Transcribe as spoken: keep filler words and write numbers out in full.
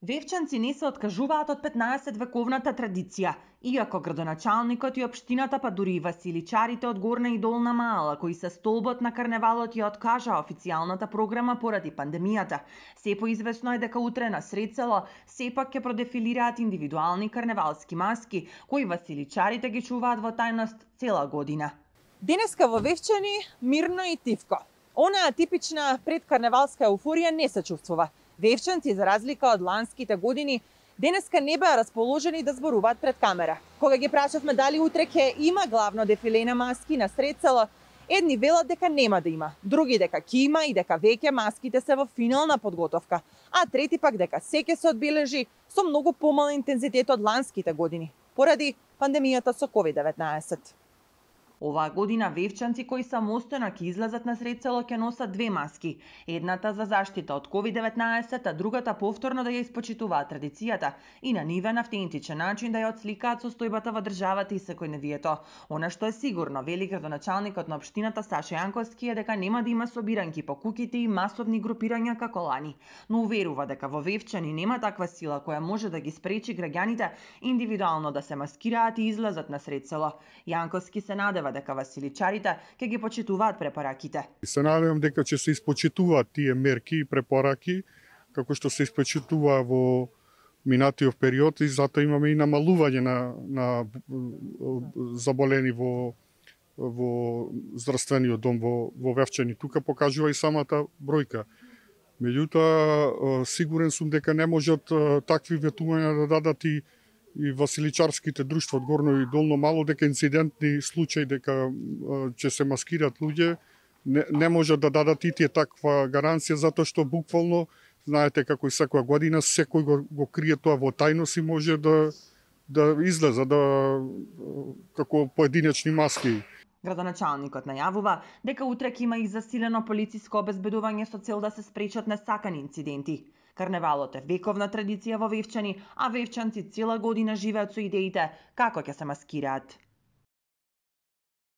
Вевчанци не се откажуваат од петнаесет вековната традиција, иако градоначалникот и општината, па дури и василичарите од Горна и Долна Маала, кои се столбот на карневалот, ја откажаа официјалната програма поради пандемијата. Се поизвестно е дека утре на сред село сепак ќе продефилираат индивидуални карневалски маски, кои василичарите ги чуваат во тајност цела година. Денеска во Вевчани мирно и тивко. Онаа типична предкарневалска еуфорија не се чувствува. Вевчанци, за разлика од ланските години, денеска не беа расположени да зборуваат пред камера. Кога ги прашавме дали утре ќе има главно дефиле на маски на сред село, едни велат дека нема да има, други дека ќе има и дека веќе маските се во финална подготовка, а трети пак дека се ќе се одбележи со многу помал интензитет од ланските години, поради пандемијата со ковид деветнаесет. Оваа година вевчанци кои самостојно ќе излезат на сред село ќе носат две маски, едната за заштита од ковид деветнаесет, а другата повторно да ја испочитуваат традицијата и на нивен автентичен начин да ја отсликаат состојбата во државата и секојневието. Она што е сигурно, вели градоначалникот на општината Саша Јанковски, е дека нема да има собиранки по куќите и масовни групирања како лани, но уверува дека во Вевчани нема таква сила која може да ги спречи граѓаните индивидуално да се маскираат и излезат на сред село. Јанковски се надева дека василичарите ќе ги почитуваат препораките. Се надевам дека ќе се испочитуваат тие мерки и препораки како што се испочитува во минатиот период, и затоа имаме и намалување на, на заболени во во здравствениот дом во, во Вевчани. Тука покажува и самата бројка. Меѓутоа, сигурен сум дека не можат такви ветувања да дадат и и василичарските друштва од Горно и Долно Мало, дека инцидентни случаи дека ќе се маскираат луѓе, не, не можат да дадат и тие таква гаранција, затоа што буквално, знаете како и секоја година, секој го, го крие тоа во тајност и може да, да излезе да, како поединечни маски. Градоначалникот најавува дека утре ќе има и засилено полициско обезбедување со цел да се спречат несакани инциденти. Карневалот е вековна традиција во Вевчани, а вевчанци цела година живеат со идеите како ќе се маскираат.